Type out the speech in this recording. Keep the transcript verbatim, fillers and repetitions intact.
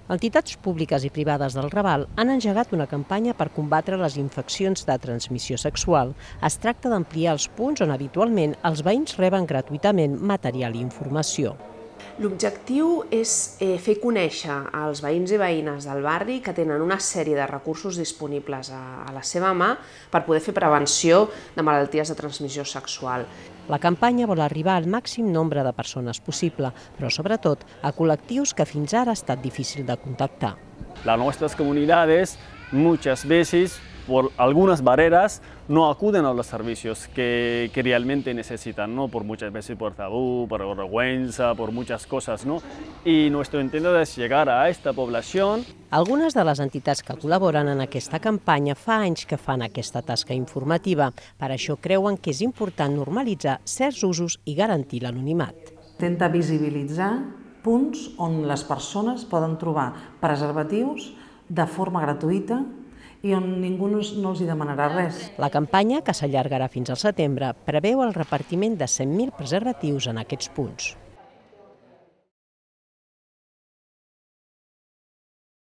Entitats públiques i privades del Raval han engegat una campanya per combatre les infeccions de transmissió sexual. Es tracta d'ampliar els punts on habitualment els veïns reben gratuïtament material i informació. L'objectiu és fer conèixer als veïns i veïnes del barri que tenen una sèrie de recursos disponibles a la seva mà per poder fer prevenció de malalties de transmissió sexual. La campanya vol arribar al màxim nombre de persones possible, però sobretot a col·lectius que fins ara ha estat difícil de contactar. Las nuestras comunidades muchas veces por algunas barreras no acuden a los servicios que, que realmente necesitan, ¿no? Por muchas veces por tabú, por vergüenza, por muchas cosas, ¿no? Y nuestro intento es llegar a esta población. Algunes de les entitats que col·laboren en aquesta campanya fa anys que fan aquesta tasca informativa. Per això creuen que és important normalitzar certs usos i garantir l'anonimat. Intenta visibilitzar punts on les persones poden trobar preservatius de forma gratuïta i on ningú no els hi demanarà res. La campanya, que s'allargarà fins al setembre, preveu el repartiment de cent mil preservatius en aquests punts.